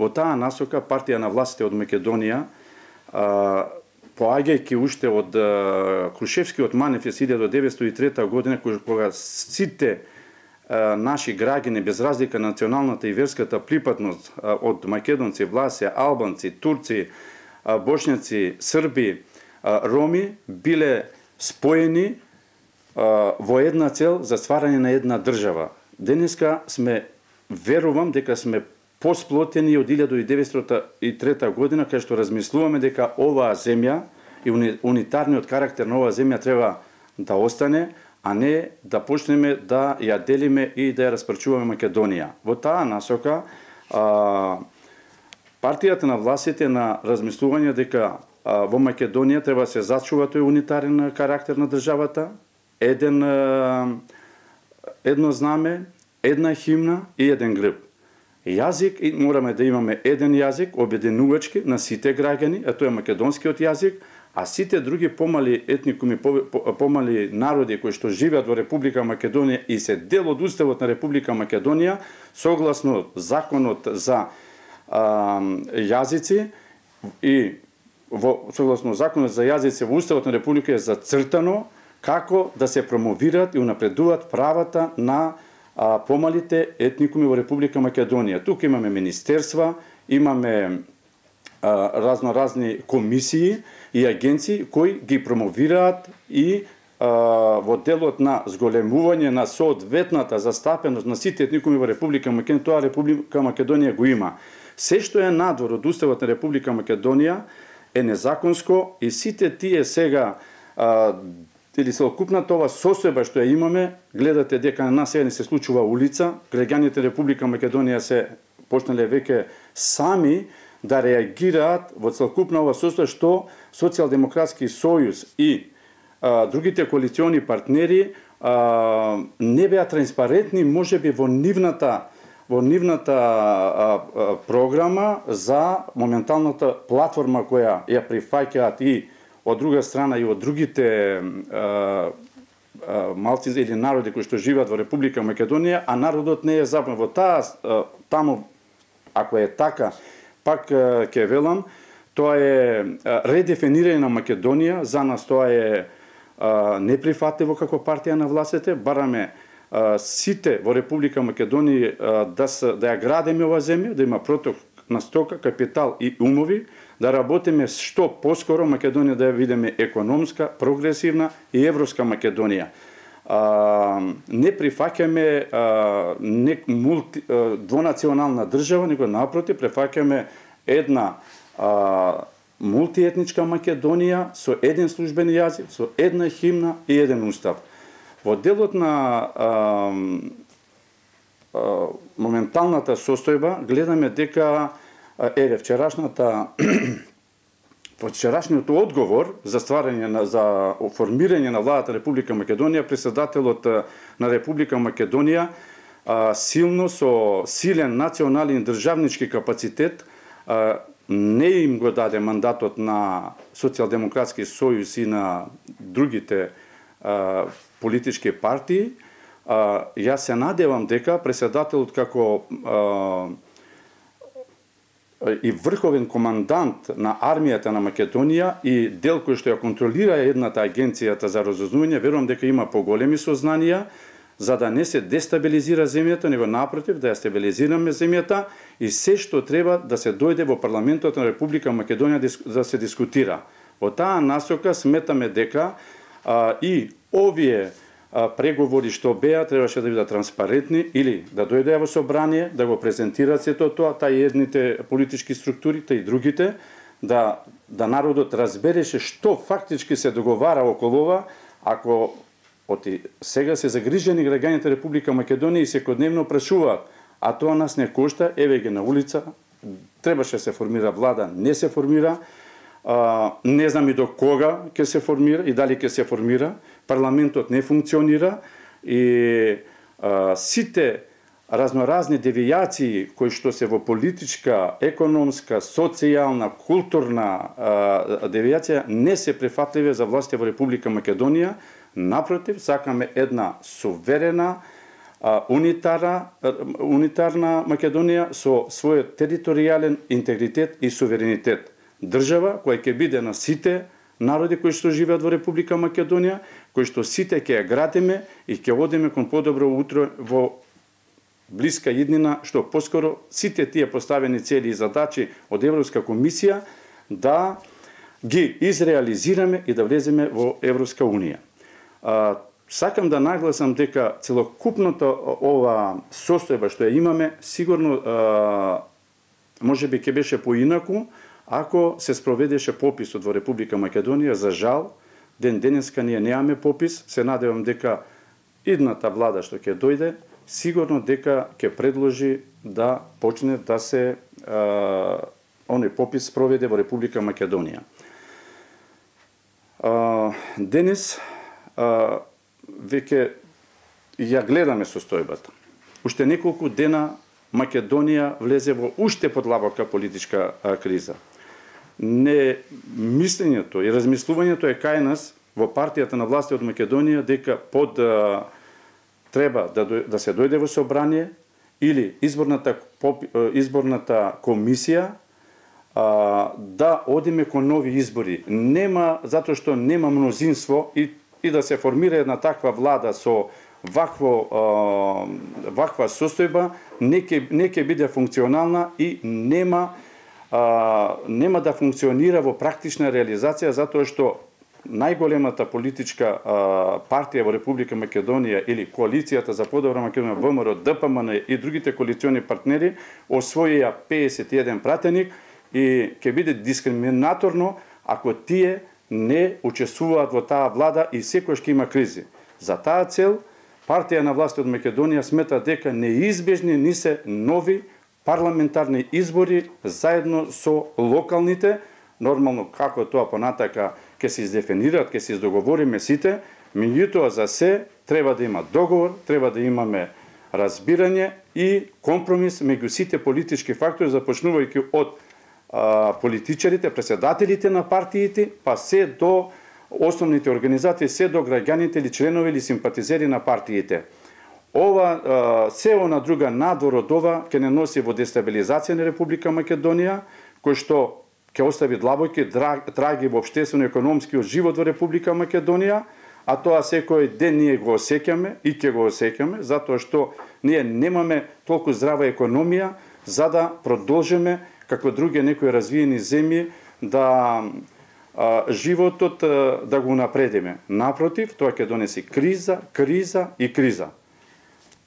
Во таа насока партија на властите од Македонија, поаѓајќи уште од Крушевскиот манифест 1903 година, кога сите наши граѓани без разлика на националната и верската припадност од македонци, власија, албанци, турци, бошњаци, срби, роми биле споени во една цел за стварање на една држава. Денеска сме, верувам дека сме посплотени од 1903 година, кај што размислуваме дека оваа земја и унитарниот карактер на оваа земја треба да остане, а не да почнеме да ја делиме и да ја распрчуваме Македонија. Во таа насока, партијата на властите на размислување дека во Македонија треба да се зачува тој унитарен карактер на државата, едно знаме, една химна и еден грб. Јазик, мораме да имаме еден јазик, обединувачки на сите граѓани, а тоа е македонскиот јазик, а сите други помали етникуми, помали народи кои што живеат во Република Македонија и се дел од уставот на Република Македонија, согласно законот за јазици и согласно законот за јазици во уставот на Република е зацртано како да се промовираат и унапредуваат правата на помалите етникуми во Република Македонија. Тука имаме министерства, имаме разноразни комисии и агенции кои ги промовираат и во делот на зголемување на соодветната застапеност на сите етникуми во Република Македонија, тоа Република Македонија го има. Се што е надвор од уставот на Република Македонија е незаконско и сите тие сега или целокупната ова состојба што ја имаме, гледате дека на нас сега не се случува улица, граѓаните Република Македонија се почнале веќе сами да реагираат во целокупна ова состојба што Социјалдемократски сојуз и другите коалициони партнери не беа транспарентни можеби во нивната програма за моменталната платформа која ја прифаќаат и од друга страна и од другите малци или народи кои што живеат во Република Македонија, а народот не е забавен. Во таму, ако е така, пак ќе велам, тоа е редефинирање на Македонија, за нас тоа е неприфатливо како партија на властите, бараме сите во Република Македонија да ја градиме ова земја, да има проток на стока, капитал и умови, да работиме што поскоро Македонија да ја видиме економска, прогресивна и европска Македонија. Не прифаќаме двонационална држава, него напротив, прифаќаме една мултиетничка Македонија со еден службен јазик, со една химна и еден устав. Во делот на моменталната состојба гледаме дека вчерашниот одговор за стварање за формирање на владата Република Македонија, претседателот на Република Македонија силно со силен национален државнички капацитет не им го даде мандатот на Социјалдемократски сојуз и на другите политички партии. Јас се надевам дека претседателот како и врховен командант на армијата на Македонија и дел кој што ја контролира едната агенцијата за разузнавање, верувам дека има поголеми сознанија за да не се дестабилизира земјата, него напротив да ја стабилизираме земјата и се што треба да се дојде во парламентот на Република Македонија да се дискутира. Во таа насока сметаме дека и овие преговори што беа требаше да бидат транспарентни или да дојдеа во собрание, да го презентираат сето тоа, тај едните политички структури, тај другите, да народот разбереше што фактички се договара околу ова, ако сега се загрижени граѓаните Република Македонија и секојдневно прашуваат, а тоа нас не кошта, еве ги на улица, требаше се формира влада, не се формира, не знам и до кога ќе се формира и дали ќе се формира, парламентот не функционира и сите разноразни девијации кои што се во политичка, економска, социјална, културна девијација не се прифатливи за властите во Република Македонија. Напротив, сакаме една суверена, унитарна Македонија со својот територијален интегритет и суверенитет. Држава која ќе биде на сите народи кои што живеат во Република Македонија, кои што сите ќе ја градиме и ќе одиме кон подобро утро во блиска иднина, што поскоро сите тие поставени цели и задачи од Европска комисија да ги изреализираме и да влеземе во Европска унија. Сакам да нагласам дека целокупната ова состојба што ја имаме, сигурно можеби ќе беше поинаку ако се спроведеше пописот во Република Македонија. За жал, ден денеска ние немаме попис. Се надевам дека идната влада што ќе дојде, сигурно дека ќе предложи да почне да се оној попис спроведе во Република Македонија. Денес веќе ја гледаме состојбата. Уште неколку дена Македонија влезе во уште подлабока политичка криза. Мислењето и размислувањето е кај нас во партијата на власти од Македонија дека треба да се дојде во собрание или изборната комисија да одиме кон нови избори. Нема, затоа што нема мнозинство и да се формира една таква влада со ваква состојба, не ќе биде функционална и нема да функционира во практична реализација, затоа што најголемата политичка партија во Република Македонија или коалицијата за подобра Македонија, ВМРО, ДПМН и другите коалициони партнери освоија 51 пратеник и ќе биде дискриминаторно ако тие не учествуваат во таа влада и секојаш ќе има кризи. За таа цел, партија на власт од Македонија смета дека неизбежни ни се нови парламентарни избори заедно со локалните, нормално како тоа понатака ќе се издефинираат, ќе се издоговориме сите, меѓутоа за се треба да има договор, треба да имаме разбирање и компромис меѓу сите политички фактори, започнувајќи од политичарите, председателите на партиите, па се до основните организации, се до граѓаните или членови или симпатизери на партиите. Ова се она друга надвор од ова ќе не носи во дестабилизација на Република Македонија, кој што ќе остави длабоки траги во општествено-економскиот живот во Република Македонија, а тоа секој ден ние го осеќаме и ќе го осеќаме, затоа што ние немаме толку здрава економија за да продолжиме како други некои развиени земји да животот да го напредиме. Напротив, тоа ќе донеси криза, криза и криза.